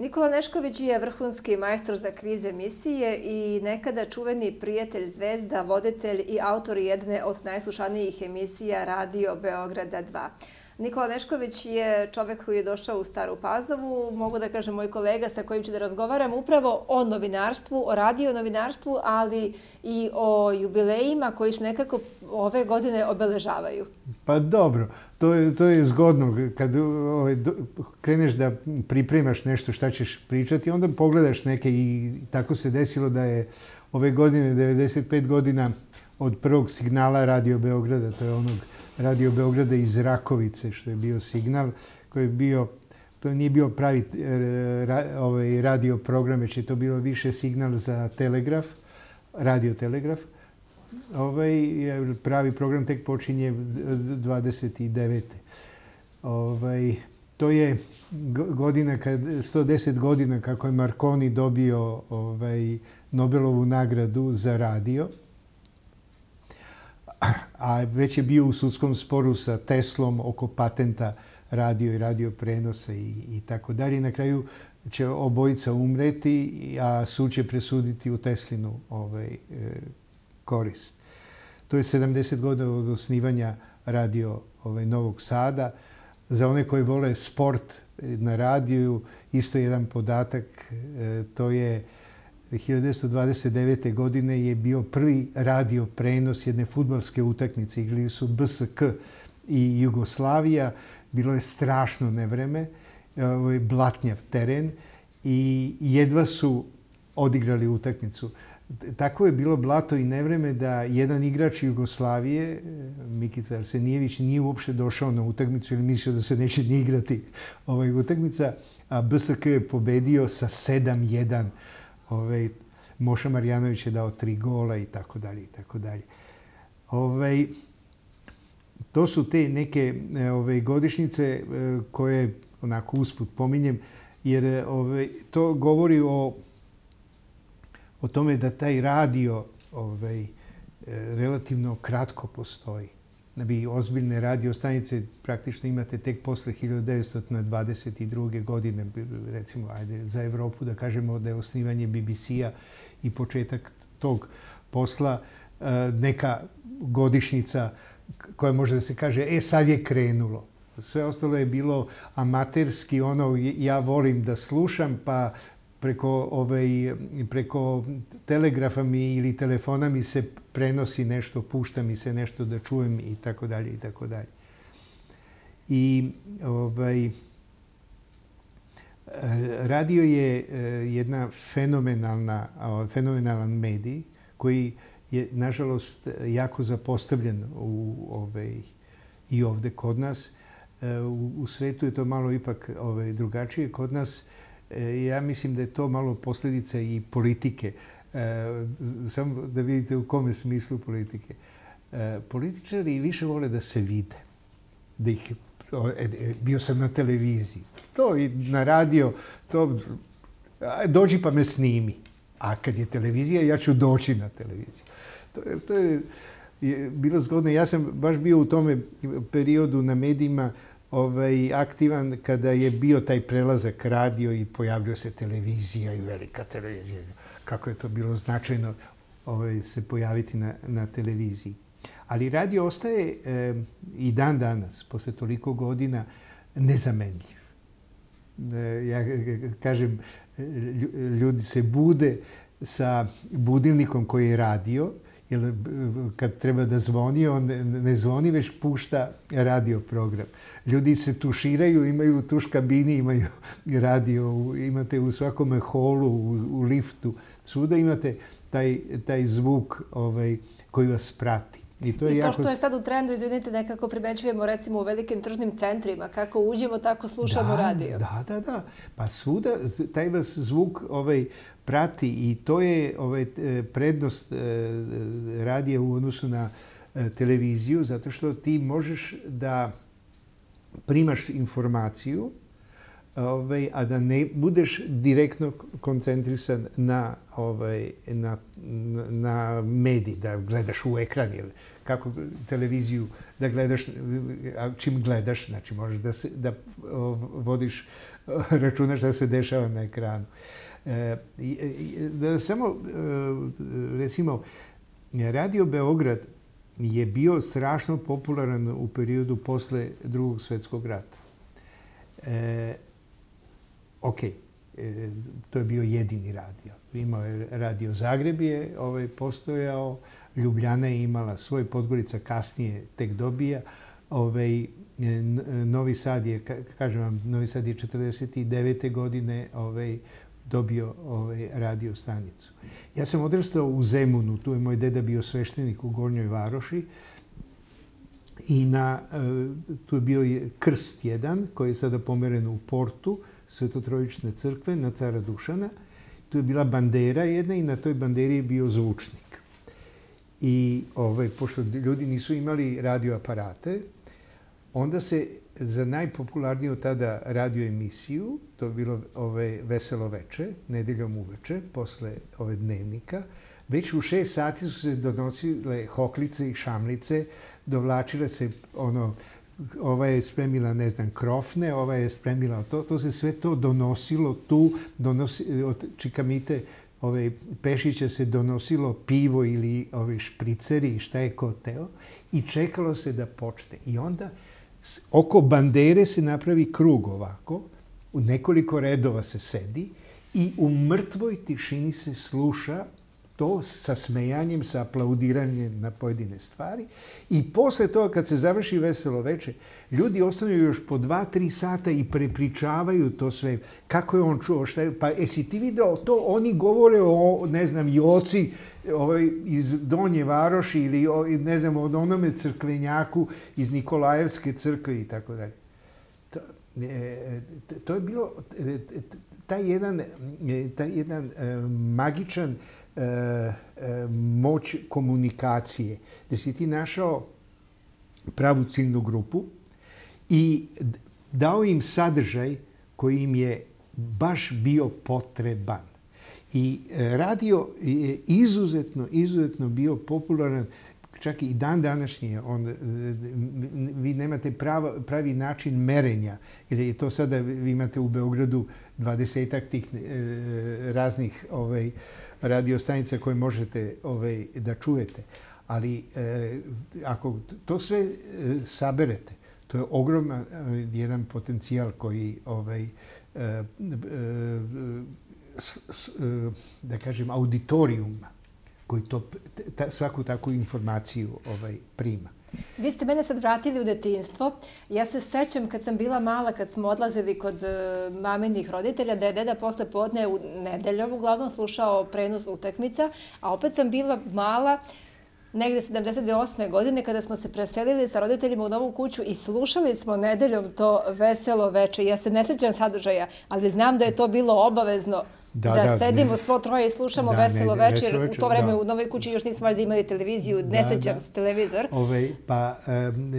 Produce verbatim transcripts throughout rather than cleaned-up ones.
Nikola Nešković je vrhunski majstor za kviz emisije i nekada čuveni prijatelj zvezda, voditelj i autor jedne od najslušanijih emisija Radio Beograda dva. Nikola Nešković je čovek koji je došao u Staru Pazovu, mogu da kažem moj kolega sa kojim ću da razgovaram upravo o novinarstvu, o radio novinarstvu, ali i o jubilejima koji se nekako ove godine obeležavaju. Pa dobro, to je, to je zgodno. Kad ovaj, kreneš da pripremaš nešto šta ćeš pričati, onda pogledaš neke i tako se desilo da je ove godine devedeset pet godina od prvog signala Radio Beograda, to je onog Radio Beograda iz Rakovice, što je bio signal, koji je bio, to nije bio pravi ra, ovaj, radio program, već je to bilo više signal za telegraf, radio telegraf. Ovaj pravi program tek počinje dvadeset devete. Ovaj, to je godina, kad, sto deset godina kako je Marconi dobio ovaj, Nobelovu nagradu za radio. A već je bio u sudskom sporu sa Teslom oko patenta radio i radio prenosa i, i tako dalje. Na kraju će obojica umreti, a sud će presuditi u Teslinu ovaj, e, korist. To je sedamdeset godina od osnivanja radio ovaj, Novog Sada. Za one koji vole sport na radiju, isto jedan podatak, e, to je hiljadu devetsto dvadeset devete. godine je bio prvi radio prenos jedne fudbalske utakmice. Igrali su B S K i Jugoslavija. Bilo je strašno nevreme, blatnjav teren i jedva su odigrali utakmicu. Tako je bilo blato i nevreme da jedan igrač Jugoslavije, Mikica Arsenijević, nije uopšte došao na utakmicu ili mislio da se neće ni igrati ovaj utakmica, a B S K je pobedio sa sedam jedan. Ovaj, Moša Marjanović je dao tri gola i tako dalje i tako dalje. Ovaj, to su te neke ovaj, godišnjice koje onako usput pominjem, jer ovaj, to govori o, o tome da taj radio ovaj, relativno kratko postoji. Da bi ozbiljne radio stanice praktično imate tek posle hiljadu devetsto dvadeset druge. godine, recimo, ajde, za Evropu da kažemo da je osnivanje B B C-a i početak tog posla neka godišnjica koja može da se kaže, e sad je krenulo. Sve ostalo je bilo amaterski, ono, ja volim da slušam, pa preko, ovaj, preko telegrafa mi ili telefona mi se prenosi nešto, pušta mi se nešto da čujem i tako dalje i tako dalje. I ovaj, radio je jedna fenomenalna, fenomenalan medij koji je, nažalost, jako zapostavljen u, ovaj, i ovde kod nas. U, u svetu je to malo ipak ovaj, drugačije. Kod nas ja mislim da je to malo posljedica i politike. Samo da vidite u kome smislu politike. Političari više vole da se vide. Da ih, bio sam na televiziji. To i na radio, to dođi pa me snimi. A kad je televizija, ja ću doći na televiziju. To je, to je, je bilo zgodno. Ja sam baš bio u tome periodu na medijima ovaj, aktivan kada je bio taj prelazak radio i pojavljio se televizija i velika televizija. Kako je to bilo značajno ovaj, se pojaviti na, na televiziji. Ali radio ostaje e, i dan danas, posle toliko godina, nezamenljiv. E, ja kažem, ljudi se bude sa budilnikom koji je radio, jer kad treba da zvoni, on ne zvoni, već pušta radio program. Ljudi se tuširaju, imaju u tuš kabini, imaju radio, imate u svakome holu, u, u liftu, svuda imate taj, taj zvuk ovaj, koji vas prati. I to, je I to jako... što je sad u trendu, izvinite, nekako primećujemo recimo u velikim tržnim centrima, kako uđemo, tako slušamo da, radio. Da, da, da. Pa svuda taj vas zvuk ovaj, prati i to je ovaj, prednost radija u odnosu na televiziju, zato što ti možeš da primaš informaciju ovaj, a da ne budeš direktno koncentrisan na, ovaj, na, na medij, da gledaš u ekran ili kako televiziju da gledaš, čim gledaš, znači možeš da, se, da vodiš računa šta se dešava na ekranu. E, da samo, recimo, Radio Beograd je bio strašno popularan u periodu posle Drugog svjetskog rata. E, ok, e, to je bio jedini radio. Imao je Radio Zagreb je ovaj, postojao, Ljubljana je imala svoj, Podgorica kasnije tek dobija. Ovaj, Novi Sad je, kažem vam, Novi Sad je četrdeset devete godine ovaj, dobio ovaj, radio stanicu. Ja sam odrastao u Zemunu, tu je moj deda bio sveštenik u Gornjoj Varoši i na, tu je bio krst jedan koji je sada pomeren u portu Svetotrojične crkve na Cara Dušana. Tu je bila bandera jedna i na toj banderi je bio zvučnik. I ovaj, pošto ljudi nisu imali radioaparate, onda se za najpopularniju tada radioemisiju, to je bilo ove Veselo veče, nedeljom uveče, posle ove dnevnika, već u šest sati su se donosile hoklice i šamlice, dovlačile se ono, ova je spremila, ne znam, krofne, ova je spremila to, to se sve to donosilo tu, donosi, od Čikamite ove Pešića se donosilo pivo ili ove špriceri, šta je ko teo, i čekalo se da počne. I onda oko bandere se napravi krug ovako, u nekoliko redova se sedi i u mrtvoj tišini se sluša to sa smejanjem, sa aplaudiranjem na pojedine stvari. I posle toga, kad se završi Veselo veče, ljudi ostanu još po dva, tri sata i prepričavaju to sve. Kako je on čuo, šta je, pa jesi ti video to? Oni govore o, ne znam, Joci ovaj, iz Donje Varoši ili, o, ne znam, od onome crkvenjaku iz Nikolajevske crkve i tako dalje. To, e, to je bilo taj jedan, taj jedan e, magičan E, e, moć komunikacije, gde si ti našao pravu ciljnu grupu i dao im sadržaj koji im je baš bio potreban. I radio je izuzetno, izuzetno bio popularan, čak i dan današnji. On, vi nemate prava, pravi način merenja, jer je to sada, vi imate u Beogradu dvadesetak tih e, raznih ovaj, radiostanica koje možete ovaj, da čujete. Ali e, ako to sve e, saberete, to je ogroman e, jedan potencijal koji, ovaj, e, e, s, s, e, da kažem, auditorijuma koji to, ta, svaku takvu informaciju ovaj, prima. Vi ste mene sad vratili u detinjstvo. Ja se sećam kad sam bila mala, kad smo odlazili kod maminih roditelja, da je deda posle podne u nedeljom uglavnom slušao prenos utakmica, a opet sam bila mala, negde sedamdeset osme godine, kada smo se preselili sa roditeljima u novu kuću i slušali smo nedeljom to Veselo veče. Ja se ne sećam sadržaja, ali znam da je to bilo obavezno da, da, da sedimo ne, svo troje i slušamo da, Veselo ne, veče. U to vreme da. U novoj kući još nismo valjda imali televiziju, ne da, sećam da. se televizor. Ove, pa, um,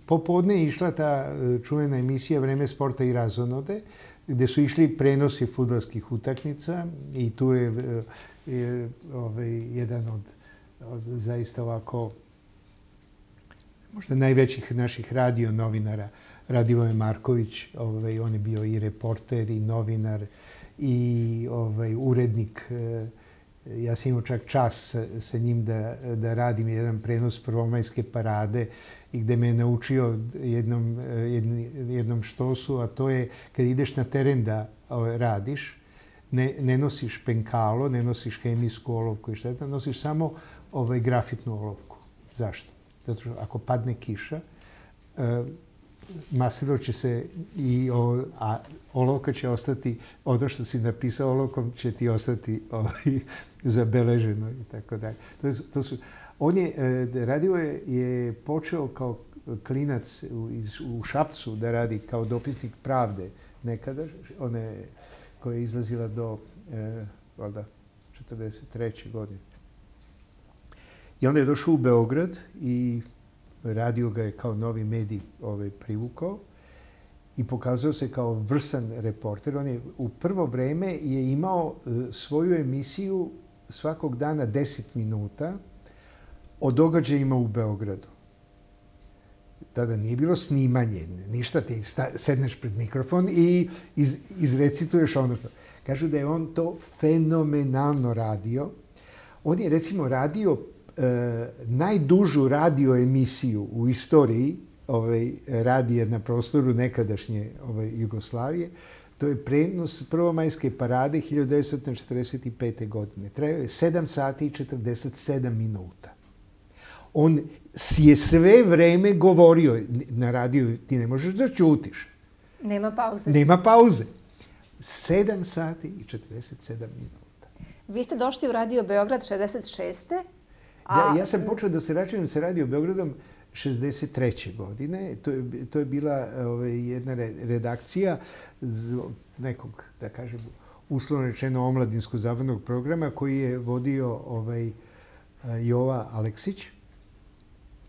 popodne je išla ta čuvena emisija Vreme sporta i razonode, gde su išli prenosi fudbalskih utakmica i tu je, je ove, jedan od od zaista ovako možda najvećih naših radio novinara, Radivoje Marković. Ovaj, on je bio i reporter i novinar i ovaj, urednik. Ja sam imao čak čas sa njim da, da radim jedan prenos prvomajske parade i gde me je naučio jednom, jednom, jednom štosu, a to je kad ideš na teren da ovaj, radiš, ne, ne nosiš penkalo, ne nosiš hemijsku olovku i šta, nosiš samo ovaj, grafitnu olovku. Zašto? Zato što ako padne kiša, uh, masilo će se i o, a olovka će ostati, ono što si napisao olovkom će ti ostati ovaj, zabeleženo i tako dalje. To, je, to su, on je, radio je, je počeo kao klinac u, iz, u Šapcu da radi kao dopisnik Pravde nekada, one koja je izlazila do e, valjda četrdeset treće godine. I onda je došao u Beograd i radio ga je kao novi medij ovaj, privukao. i pokazao se kao vrsan reporter. On je u prvo vreme je imao svoju emisiju svakog dana deset minuta o događajima u Beogradu. Tada nije bilo snimanje, ništa, ti sedneš pred mikrofon i iz, izrecituješ ono što. Kažu da je on to fenomenalno radio. On je recimo radio e, najdužu radio emisiju u istoriji ovaj, radija na prostoru nekadašnje ovaj, Jugoslavije. To je prenos prvomajske parade hiljadu devetsto četrdeset pete. godine. Trajao je sedam sati i četrdeset sedam minuta. On je sve vreme govorio na radiju, ti ne možeš da ćutiš. Nema pauze. Nema pauze. sedam sati i četrdeset sedam minuta. Vi ste došli u Radio Beograd šezdeset šeste. A... Ja, ja sam počeo da se računam sa Radio Beogradom šezdeset treće. godine. To je, to je bila ovaj, jedna redakcija nekog, da kažem, uslovno rečeno omladinsko-zabavnog programa koji je vodio ovaj, Jova Aleksić.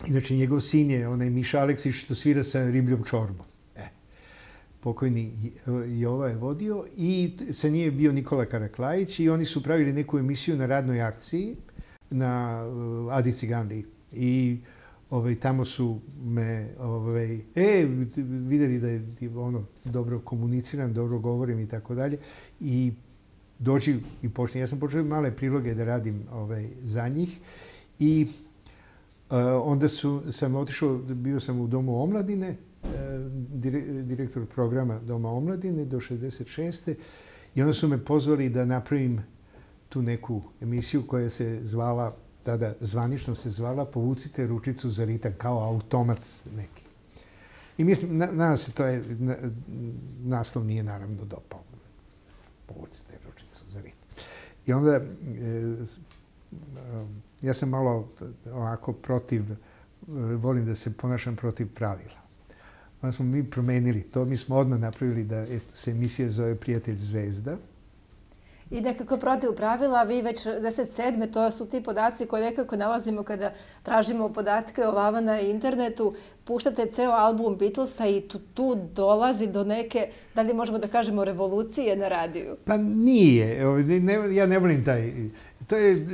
Inače, njegov sin je onaj Miša Aleksić što svira sa ribljom čorbom. E, pokojni Jova je vodio i sa njim je bio Nikola Karaklajić i oni su pravili neku emisiju na radnoj akciji na Adi Ciganliji. I ovaj, tamo su me, ovaj, e, vidjeli da je ono, dobro komuniciram, dobro govorim i tako dalje. I dođi i počne. Ja sam počeo male priloge da radim ovaj, za njih i Uh, onda su, sam otišao, bio sam u Domu omladine, uh, dire, direktor programa Doma omladine do šezdeset šeste. I onda su me pozvali da napravim tu neku emisiju koja se zvala, tada zvanično se zvala Povucite ručicu za ritam, kao automat neki. I mislim, na, nadam se, to je, na, naslov nije naravno dopao. Povucite ručicu za ritam. I onda... E, ja sam malo ovako protiv, volim da se ponašam protiv pravila. Onda smo mi promenili to. Mi smo odmah napravili da se emisija zove Prijatelj zvezda. I nekako protiv pravila, vi već šezdeset sedme. to su ti podaci koje nekako nalazimo kada tražimo podatke o vama na internetu. Puštate ceo album Beatlesa i tu, tu dolazi do neke, da li možemo da kažemo, revolucije na radiju? Pa nije. Ne, ja ne volim taj... To je,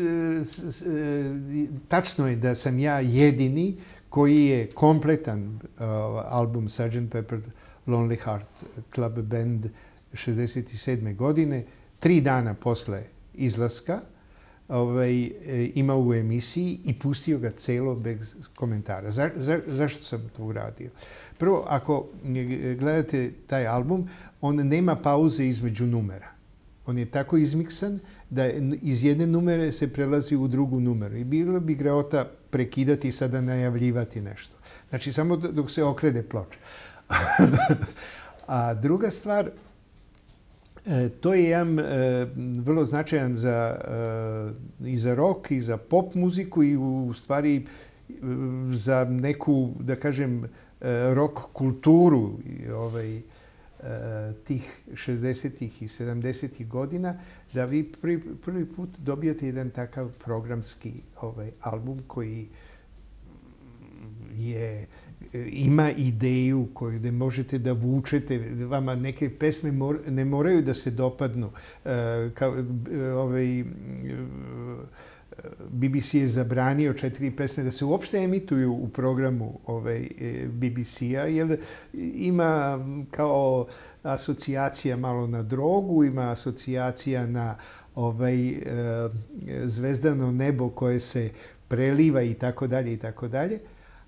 tačno je da sam ja jedini koji je kompletan album sergeant Pepper Lonely Heart Club Band šezdeset sedme. godine, tri dana posle izlaska, ovaj, imao u emisiji i pustio ga celo bez komentara. Za, za, zašto sam to uradio? Prvo, ako gledate taj album, on nema pauze između numera. On je tako izmiksan da iz jedne numere se prelazi u drugu numeru. I bilo bi greota prekidati i sada najavljivati nešto. Znači, samo dok se okrede ploča. A druga stvar, to je jedan vrlo značajan za, i za rock, i za pop muziku, i u stvari za neku, da kažem, rock kulturu ovaj, tih šezdesetih i sedamdesetih godina, da vi prvi, prvi put dobijate jedan takav programski ovaj, album koji je, ima ideju koju da možete da vučete. Vama neke pesme mor, ne moraju da se dopadnu. Kao, ovaj, B B C je zabranio četiri pesme da se uopšte emituju u programu ovaj, B B C-a, jer ima kao asocijacija malo na drogu, ima asocijacija na ovaj, zvezdano nebo koje se preliva i tako dalje i tako dalje.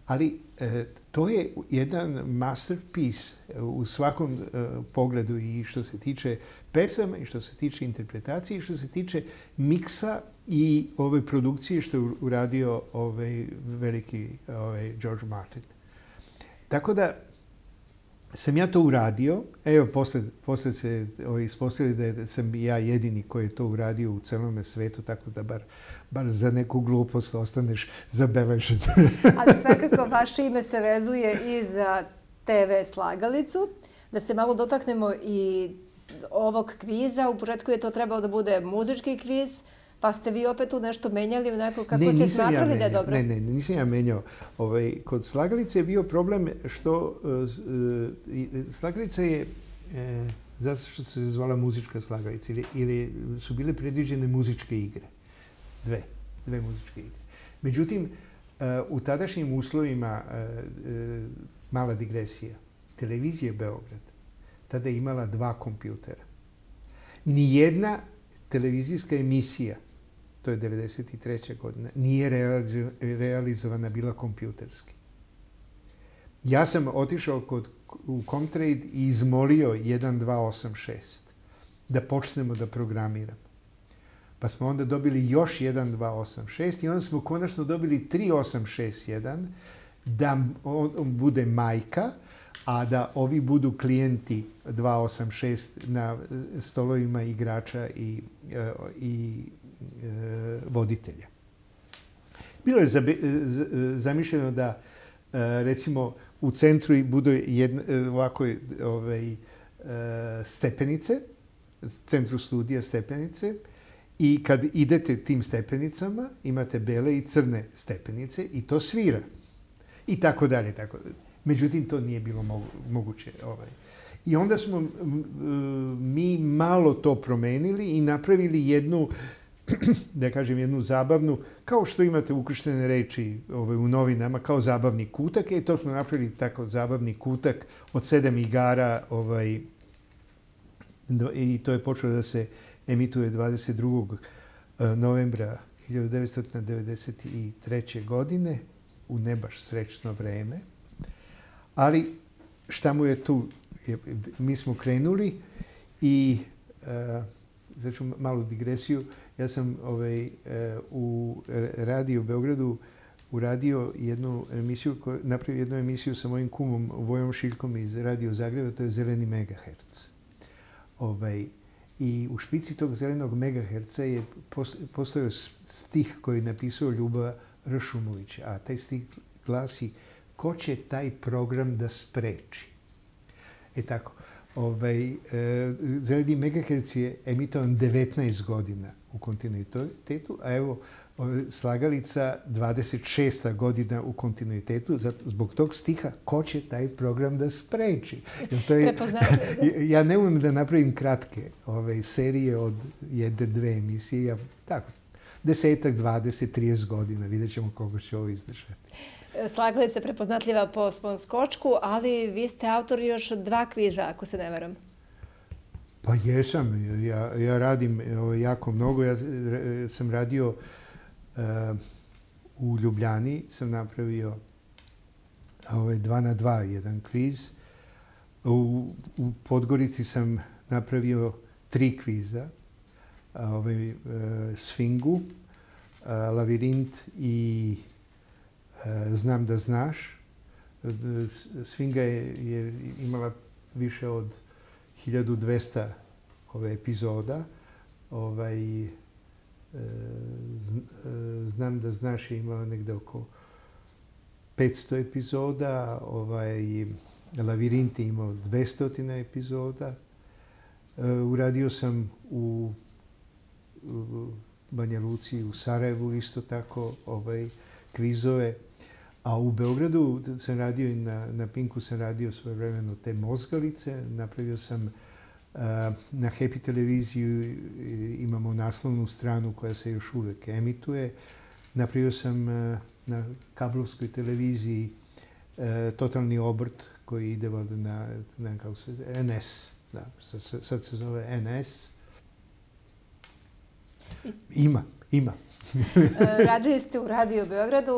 Ali e, to je jedan masterpiece u svakom e, pogledu, i što se tiče pesama, i što se tiče interpretacije, i što se tiče miksa i ove produkcije što je uradio ovaj veliki ovaj George Martin. Tako da sam ja to uradio. Evo, posle, posle se ovaj, ispostavili da sam ja jedini koji je to uradio u celom svetu, tako da bar, bar za neku glupost ostaneš zabeležen. Ali svakako vaše ime se vezuje i za te ve Slagalicu. Da se malo dotaknemo i ovog kviza. U početku je to trebalo da bude muzički kviz, Pa ste vi opet tu nešto menjali onako kako ste smatrali da je dobro? Ne, ne, nisam ja menjao. Kod slagalice je bio problem što slagalica je, zato što se zvala muzička slagalica, ili su bile predviđene muzičke igre. Dve, dve muzičke igre. Međutim, u tadašnjim uslovima, mala digresija, televizija Beograd tada je imala dva kompjutera. Nijedna televizijska emisija, to je devedeset treća godina, nije realizovana bila kompjuterski. Ja sam otišao kod, u Comtrade i izmolio jedan dva osam šest da počnemo da programiramo. Pa smo onda dobili još jedan dva osam šest i onda smo konačno dobili tri osam šest jedan da on bude majka, a da ovi budu klijenti dva osam šest na stolovima igrača i, i e, voditelja. Bilo je zamišljeno da recimo u centru budu jedne, ovako ovaj, stepenice, centru studija stepenice, i kad idete tim stepenicama imate bele i crne stepenice i to svira. I tako dalje, tako dalje. Međutim, to nije bilo moguće. I onda smo mi malo to promenili i napravili jednu, da kažem, jednu zabavnu, kao što imate ukrštene reči u novinama, kao zabavni kutak. I to smo napravili tako zabavni kutak od sedam igara i to je počelo da se emituje dvadeset drugog novembra hiljadu devetsto devedeset treće. godine, u ne baš srećno vreme. Ali šta mu je tu? Mi smo krenuli i, znači malu digresiju, ja sam ovaj, u radiju Beogradu uradio jednu emisiju, napravio jednu emisiju sa mojim kumom Vojom Šiljkom iz Radio Zagreba, to je Zeleni megaherc. Ovaj, I u špici tog zelenog megaherca je postojao stih koji je napisao Ljuba Ršumović, a taj stih glasi: ko će taj program da spreči? E tako, ovaj, e, Zeleni megaherc je emitovan devetnaest godina u kontinuitetu, a evo slagalica dvadeset šesta godina u kontinuitetu, zato, zbog tog stiha ko će taj program da spreči. To je, ja ne umem da napravim kratke ove, serije od jedne, dve emisije, ja, tako, desetak, dvadeset, trideset godina, vidjet ćemo koliko će ovo izdržati. Slagalica je prepoznatljiva po svom skočku, ali vi ste autor još dva kviza, ako se ne varam. Pa jesam, ja, ja radim jako mnogo, ja sam radio Uh, u Ljubljani, sam napravio ovaj, dva na dva jedan kviz. U, u Podgorici sam napravio tri kviza. Ovaj, uh, Sfingu, uh, Lavirint i uh, Znam da znaš. Sfinga je, je imala više od hiljadu dvesta ove epizoda. Ovaj, Znam da znaš je imala negde oko petsto epizoda, ovaj, Lavirint je imao dvesta epizoda. Uradio sam u, u Banja Luci, u Sarajevu isto tako ovaj, kvizove. A u Beogradu sam radio i na, na Pinku sam radio svojevremeno te mozgalice. Napravio sam na Happy televiziju, imamo naslovnu stranu koja se još uvek emituje. Napravio sam na kablovskoj televiziji Totalni obrt koji ide na, na kako se, en es. Da, sad se zove en es. Ima, ima. Radili ste u Radio Beogradu.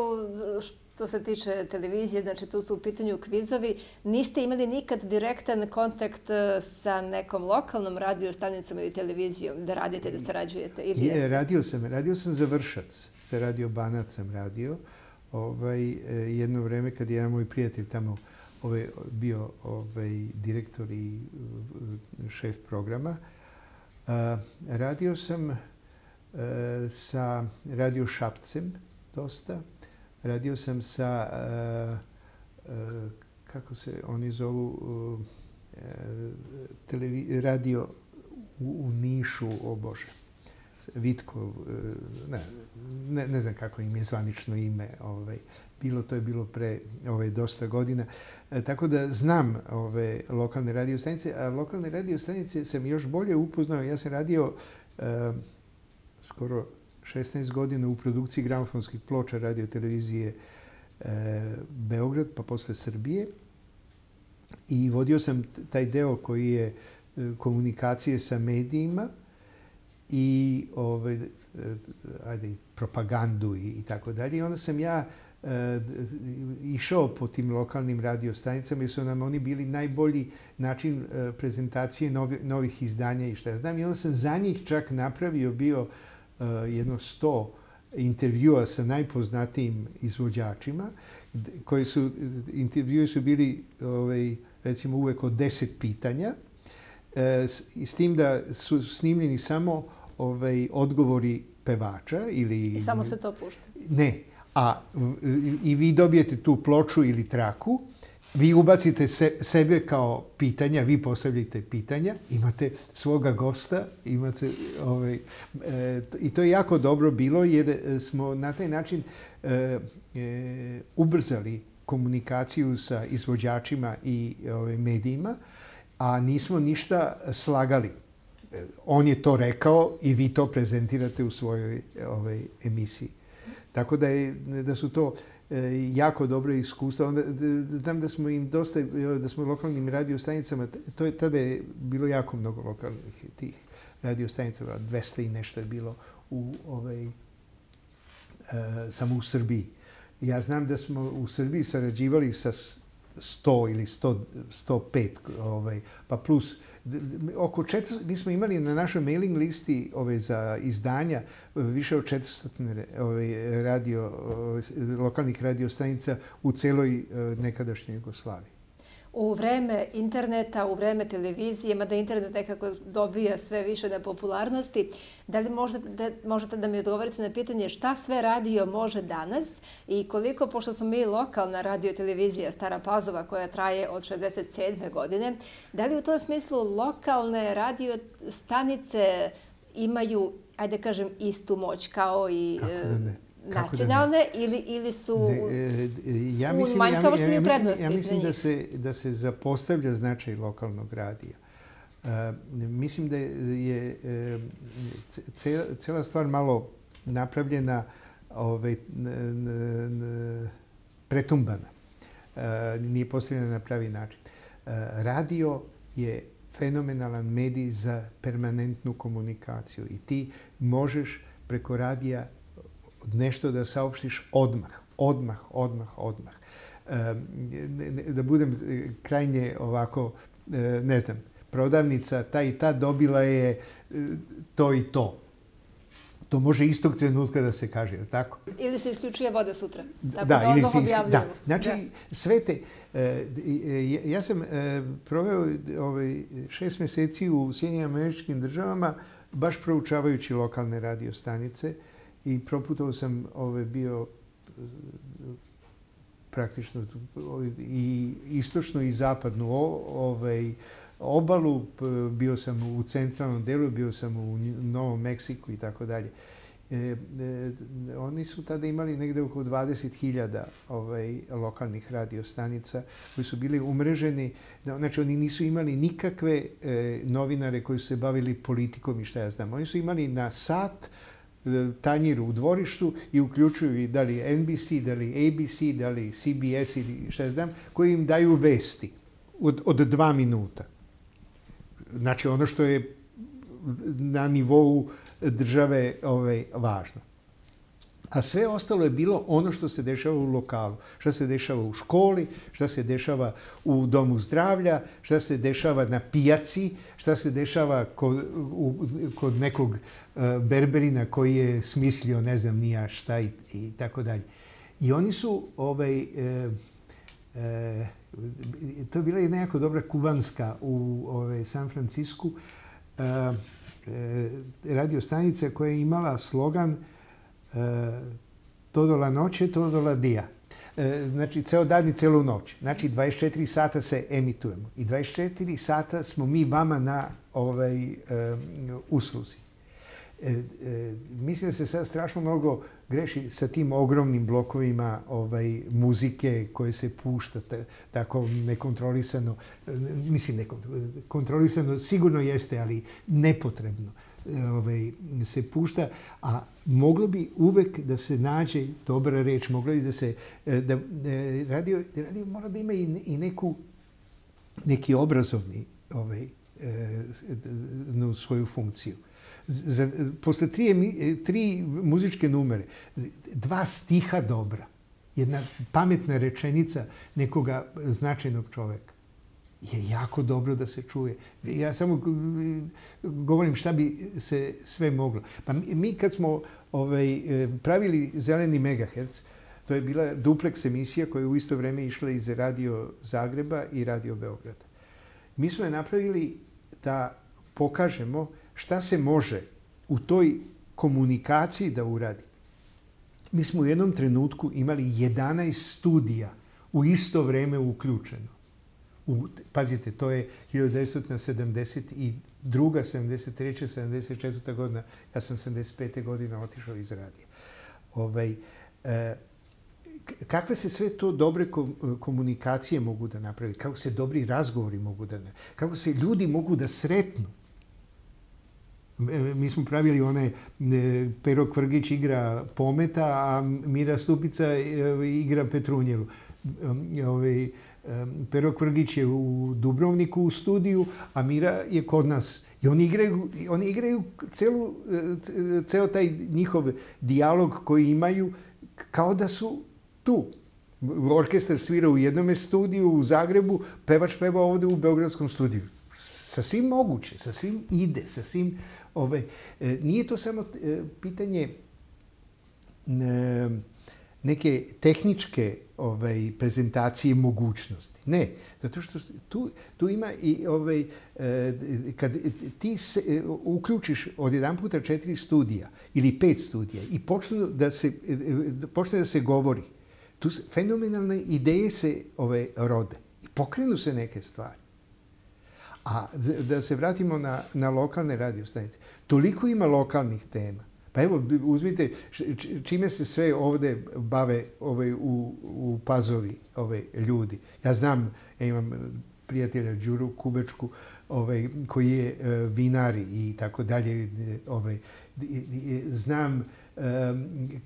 Što se tiče televizije, znači tu su u pitanju kvizovi. Niste imali nikad direktan kontakt sa nekom lokalnom radio stanicom ili televizijom da radite, da sarađujete? Ili je, radio sam. Radio sam za Vršac. Sa Radio Banat sam radio. Ovaj, jedno vreme kad je jedan moj prijatelj tamo ovaj, bio ovaj, direktor i šef programa. Uh, radio sam uh, sa Radio Šapcem dosta. Radio sam sa, uh, uh, kako se oni zovu, uh, televi, radio u, u Nišu, o Bože, Vitkov, ne, ne, ne znam kako im je zvanično ime, ovaj, bilo, to je bilo pre ovaj, dosta godina. E, tako da znam ove lokalne radio stanice, a lokalne radio stanice sam još bolje upoznao. Ja sam radio e, skoro šesnaest godina u produkciji gramofonskih ploča radio televizije e, Beograd, pa posle Srbije. I vodio sam taj deo koji je e, komunikacije sa medijima i ove, ajde, propagandu i, i tako dalje. I onda sam ja e, išao po tim lokalnim radiostanicama jer su nam oni bili najbolji način e, prezentacije novi, novih izdanja i šta ja znam. I onda sam za njih čak napravio bio e, jedno sto intervjua sa najpoznatijim izvođačima, koji su, intervjui su bili ovaj, recimo uvek od deset pitanja, e, s, s tim da su snimljeni samo ovaj, odgovori pevača ili... I samo se to pušta? Ne. A i vi dobijete tu ploču ili traku, vi ubacite se, sebe kao pitanja, vi postavljate pitanja, imate svoga gosta, imate ovaj, e, i to je jako dobro bilo jer smo na taj način e, e, ubrzali komunikaciju sa izvođačima i ovaj, medijima, a nismo ništa slagali. On je to rekao i vi to prezentirate u svojoj ovaj, emisiji. Tako da, je, da su to e, jako dobre iskustva. Onda, znam da smo im dosta, da smo lokalnim radiostanicama, to je, tada je bilo jako mnogo lokalnih tih radiostanica, dvesta i nešto je bilo u, ovaj, e, samo u Srbiji. Ja znam da smo u Srbiji sarađivali sa sto ili sto, sto pet, ovaj, pa plus oko četiristo, mi smo imali na našoj mailing listi ove, za izdanja više od četiristo ove, radio, ove, lokalnih radiostanica u celoj nekadašnjoj Jugoslaviji. U vreme interneta, u vreme televizije, mada internet nekako dobija sve više na popularnosti, da li možete da, možete da mi odgovorite na pitanje šta sve radio može danas i koliko, pošto smo mi lokalna radio-televizija Stara Pazova koja traje od šezdeset sedme godine, da li u tom smislu lokalne radio stanice imaju, ajde kažem, istu moć kao i... Kako da ne? Nacionalne ili, ili su ne, ja mislim, u manjkavosti ja, ja, i prednosti? Ja mislim da se, da se zapostavlja značaj lokalnog radija. Uh, mislim da je cela, cela stvar malo napravljena ovaj, n, n, n, pretumbana. Uh, nije postavljena na pravi način. Uh, radio je fenomenalan medij za permanentnu komunikaciju i ti možeš preko radija nešto da saopštiš odmah, odmah, odmah, odmah. Da budem krajnje ovako, ne znam, prodavnica ta i ta dobila je to i to. To može istog trenutka da se kaže, je li tako? Ili se isključuje voda sutra. Tako da, da ili se isključuje. Da, znači da. Sve te... Ja sam proveo ovaj, šest meseci u Sjedinjenim Američkim Državama baš proučavajući lokalne radiostanice i proputovao sam ove, bio praktično i istočnu i zapadnu ovaj, obalu, bio sam u centralnom delu, bio sam u Novom Meksiku i tako dalje. E, e, oni su tada imali negde oko dvadeset hiljada ovaj, lokalnih radiostanica koji su bili umreženi. Znači, oni nisu imali nikakve e, novinare koji su se bavili politikom i šta ja znam. Oni su imali na sat tanjir u dvorištu i uključuju i da li N B C, da li A B C, da li C B S ili šta znam, koji im daju vesti od, od dva minuta. Znači ono što je na nivou države ovaj, važno. A sve ostalo je bilo ono što se dešava u lokalu. Šta se dešava u školi, šta se dešava u domu zdravlja, šta se dešava na pijaci, šta se dešava kod, u, kod nekog uh, berberina koji je smislio ne znam ni ja šta i, i tako dalje. I oni su, ovaj, e, e, to je bila jedna jako dobra kubanska u ovaj, San Francisku, e, e, radiostanica koja je imala slogan todo la noće, todo la dia. Znači, ceo dan i celu noć. Znači, dvadeset četiri sata se emitujemo. I dvadeset četiri sata smo mi vama na ovaj, um, usluzi. E, e, mislim da se sad strašno mnogo greši sa tim ogromnim blokovima ovaj, muzike koje se pušta t- tako nekontrolisano. Mislim, nekontrolisano sigurno jeste, ali nepotrebno ovaj, se pušta. A moglo bi uvek da se nađe dobra reč, moglo bi da se... Da, radio, radio mora da ima i, i neku, neki obrazovni ovaj, no, svoju funkciju. Za, posle tri, tri muzičke numere, dva stiha dobra, jedna pametna rečenica nekoga značajnog čoveka je jako dobro da se čuje. Ja samo govorim šta bi se sve moglo. Pa mi, mi kad smo ovaj, pravili Zeleni megaherc, to je bila duplex emisija koja je u isto vreme išla iz Radio Zagreba i Radio Beograda. Mi smo je napravili da pokažemo šta se može u toj komunikaciji da uradi. Mi smo u jednom trenutku imali jedanaest studija u isto vreme uključeno. U, pazite, to je hiljadu devetsto sedamdeset druga, sedamdeset treća, sedamdeset četvrta godina. Ja sam sedamdeset pete godine otišao iz radija. Ovaj, e, kakve se sve to dobre komunikacije mogu da napravi, kako se dobri razgovori mogu da napravi, kako se ljudi mogu da sretnu. Mi smo pravili one, Pero Kvrgić igra Pometa, a Mira Stupica igra Petrunjelu. Pero Kvrgić je u Dubrovniku u studiju, a Mira je kod nas. I oni igraju, oni igraju celu, ceo taj njihov dijalog koji imaju kao da su tu. Orkestar svira u jednom studiju u Zagrebu, pevač peva ovde u Beogradskom studiju. Sa svim moguće, sa svim ide, sa svim... Ove, e, nije to samo e, pitanje e, neke tehničke ovaj, prezentacije mogućnosti. Ne, zato što tu, tu ima i ovaj, e, kad ti se, e, uključiš od jedan puta četiri studija ili pet studija i počne da se, e, počne da se govori, tu fenomenalne ideje se ove, rode i pokrenu se neke stvari. A da se vratimo na, na lokalne radio stanice. Toliko ima lokalnih tema. Pa evo, uzmite čime se sve ovde bave ovaj, u, u Pazovi ovaj, ljudi. Ja znam, ja imam prijatelja Đuru Kubečku ovaj, koji je uh, vinar i tako dalje. Ovaj, znam um,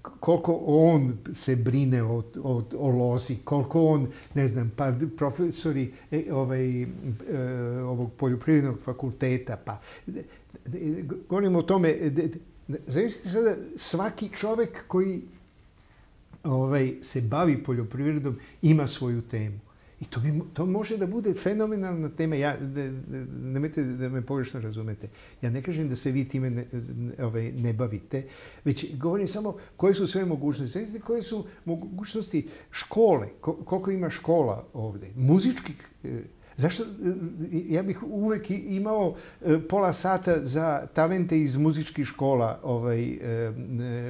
koliko on se brine o, o, o lozi, koliko on, ne znam, pa profesori ovaj, uh, ovog poljoprivrednog fakulteta, pa govorimo o tome, zamislite sada svaki čovek koji ovaj, se bavi poljoprivredom ima svoju temu. I to, bi, to može da bude fenomenalna tema. Ja, nemojte da me pogrešno razumete. Ja ne kažem da se vi time ne, ovaj, ne bavite, već govorim samo koje su sve mogućnosti. Znači, koje su mogućnosti škole, koliko ima škola ovde, muzičkih. Zašto? Ja bih uvek imao pola sata za talente iz muzičkih škola ovaj,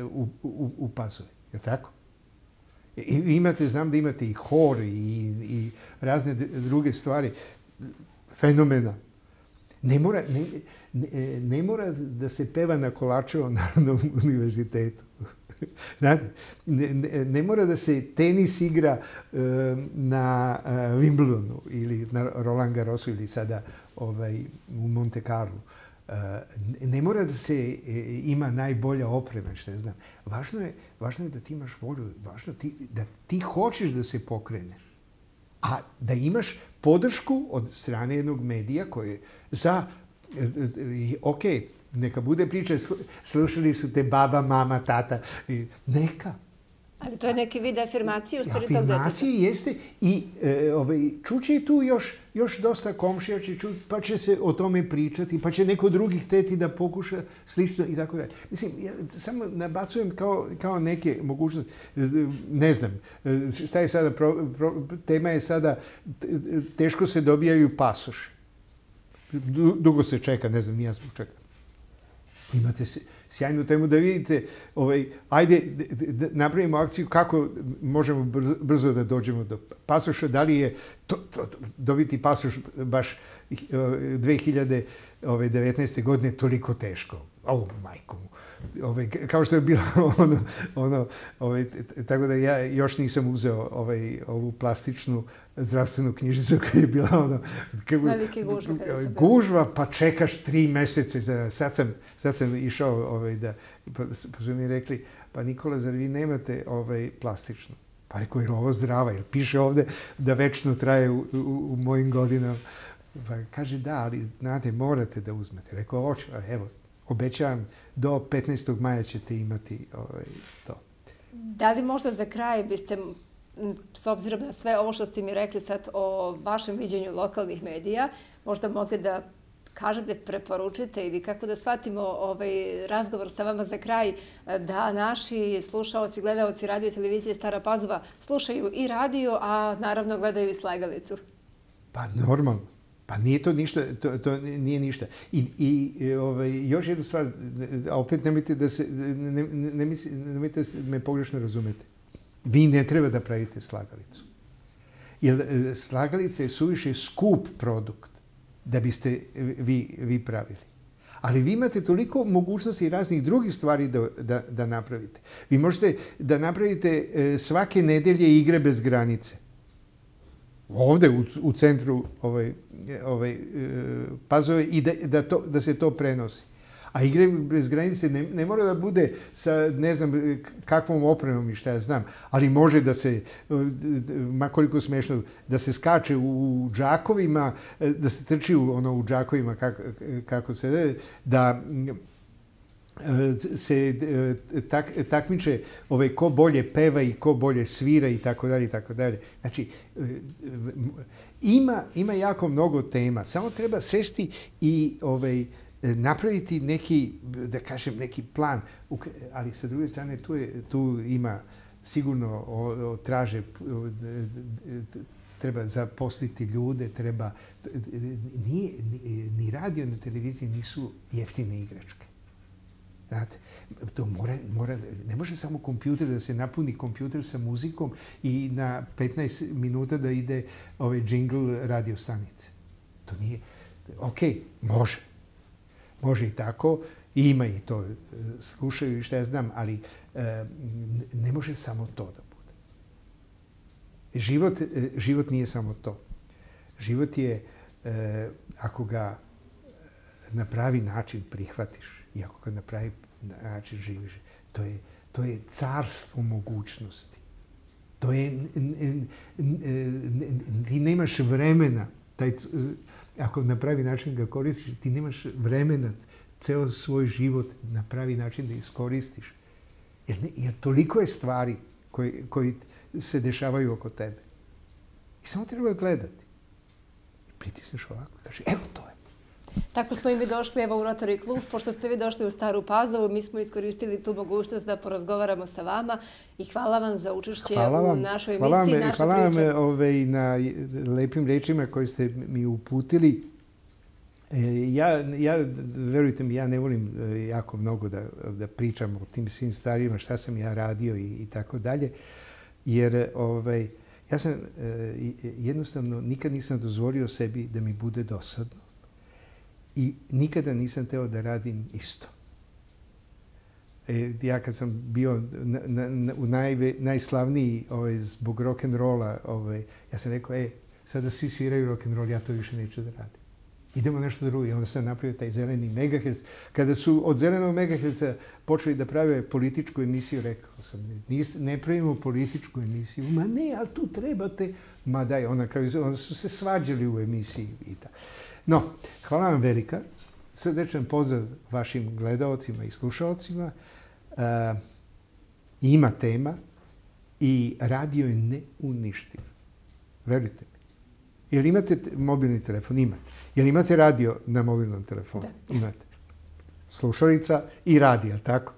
u, u, u Pazovi. Je tako? I imate, znam da imate i hor i, i razne druge stvari. Fenomena. Ne mora, ne, ne, ne mora da se peva na Kolačevom narodnom univerzitetu. Znate, ne, ne, ne mora da se tenis igra uh, na uh, Wimbledonu ili na Roland Garrosu ili sada ovaj, u Monte Carlo. Uh, ne mora da se e, ima najbolja oprema, što znam. Važno je, važno je da ti imaš volju, važno ti, da ti hoćeš da se pokreneš. A da imaš podršku od strane jednog medija koji za, e, e, ok, neka bude priča, slušali su te baba, mama, tata, e, neka. Ali to je neki vid afirmacije u stvari tog deteta. Afirmacije jeste i e, ovaj, čuće tu još, još dosta komšija, će ču, pa će se o tome pričati, pa će neko drugi hteti da pokuša slično i tako dalje. Mislim, ja samo nabacujem kao, kao neke mogućnosti. Ne znam, šta je sada, pro, pro, tema je sada, teško se dobijaju pasoši. Dugo se čeka, ne znam, nija zbog čeka. Imate se sjajnu temu da vidite, ovaj, ajde da napravimo akciju kako možemo brzo, brzo da dođemo do pasoša, da li je to, to, dobiti pasoš baš dve hiljade ove, devetnaeste godine toliko teško. O, majko mu. Ove, kao što je bilo ono, ono ove, tako da ja još nisam uzeo ovaj, ovu plastičnu zdravstvenu knjižicu kad je bila ono... Velike gužva. Gužva, pa čekaš tri mesece. Sad sam, sad sam išao ovaj, da... Pa, pa su mi rekli, pa Nikola, zar vi nemate ovaj, plastičnu? Pa rekao, je li ovo zdrava? Jer piše ovde da večno traje u, u, u mojim godinama. Pa kaže, da, ali znate, morate da uzmete. Rekao, hoću, evo, obećavam, do petnaestog maja ćete imati ovaj, to. Da li možda za kraj biste, s obzirom na sve ovo što ste mi rekli sad o vašem viđenju lokalnih medija, možda mogli da kažete, preporučite ili kako da shvatimo ovaj razgovor sa vama za kraj, da naši slušaoci, gledaoci radio i televizije Stara Pazova slušaju i radio, a naravno gledaju i Slagalicu? Pa normalno. Pa nije to ništa, to, to nije ništa. I, i ovaj, još jednu stvar, a opet nemojte da se, ne, ne, nemojte da me pogrešno razumete. Vi ne treba da pravite Slagalicu. Jer Slagalica je suviše skup produkt da biste vi, vi pravili. Ali vi imate toliko mogućnosti i raznih drugih stvari da, da, da napravite. Vi možete da napravite svake nedelje igre bez granice. Ovde u, u centru ovaj, ovaj, Pazove i da, da, to, da se to prenosi. A igre bez granice ne, ne mora da bude sa ne znam kakvom opremom i šta ja znam, ali može da se, ma koliko smešno, da se skače u džakovima, da se trči u, ono, u džakovima kako, kako se da se tak, takmiče ovaj, ko bolje peva i ko bolje svira i tako dalje i tako dalje. Znači, ima, ima jako mnogo tema. Samo treba sesti i ovaj, napraviti neki, da kažem, neki plan. Ali sa druge strane, tu, je, tu ima sigurno o, o, traže, o, treba zaposliti ljude, treba... Nije, ni, ni radio ni televizije nisu jeftine igračke. Znate, to mora, mora, ne može samo kompjuter da se napuni kompjuter sa muzikom i na petnaest minuta da ide ovaj džingl radio stanice. To nije... Ok, može. Može i tako. I ima i to. Slušaju i šta ja znam, ali e, ne može samo to da bude. Život, život nije samo to. Život je, e, ako ga na pravi način prihvatiš, i ako ga na pravi način živiš, to je, to je carstvo mogućnosti. To je, ti nemaš vremena, taj, ako na pravi način ga koristiš, ti nemaš vremena ceo svoj život na pravi način da iskoristiš. Jer, ne, jer toliko je stvari koji, koji se dešavaju oko tebe. I samo treba gledati. Pritisneš ovako i kažeš, evo to je. Tako smo i mi došli evo u Rotary klub. Pošto ste vi došli u Staru Pazovu, mi smo iskoristili tu mogućnost da porazgovaramo sa vama i hvala vam za učešće u našoj emisiji. Hvala vam, hvala vam ove, na lepim rečima koje ste mi uputili. Ja, ja, verujte mi, ja ne volim jako mnogo da, da pričam o tim svim stvarima, šta sam ja radio i, i tako dalje, jer ovaj, ja sam jednostavno nikad nisam dozvolio sebi da mi bude dosadno. I nikada nisam teo da radim isto. E, ja kad sam bio na, na, u najve, najslavniji ovaj, zbog rock'n'rolla, ovaj, ja sam rekao, e, sada svi sviraju rock'n'roll, ja to više neću da radim. Idemo nešto drugo. I onda sam napravio taj zeleni megaherc. Kada su od zelenog megaherca počeli da prave političku emisiju, rekao sam, ne pravimo političku emisiju. Ma ne, ali tu trebate. Ma daj, onda, onda su se svađali u emisiji i tako. No, hvala vam velika. Srdečan pozdrav vašim gledaocima i slušaocima. Uh, ima tema i radio je neuništiv. Verujte mi. Jel imate mobilni telefon? Imate. Jel imate radio na mobilnom telefonu? Da. Imate. Slušalica i radio, jel tako?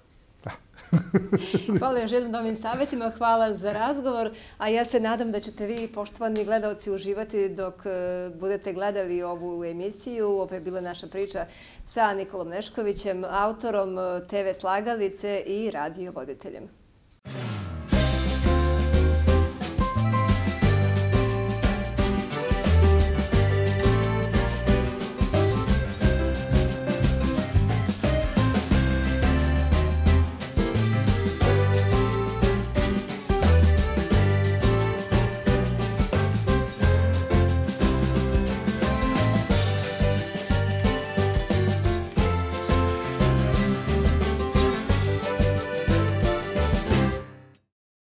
Hvala još jednom novim savjetima, hvala za razgovor, a ja se nadam da ćete vi, poštovani gledaoci, uživati dok budete gledali ovu emisiju. Ovo je bila naša priča sa Nikolom Neškovićem, autorom te ve Slagalice i radio voditeljem.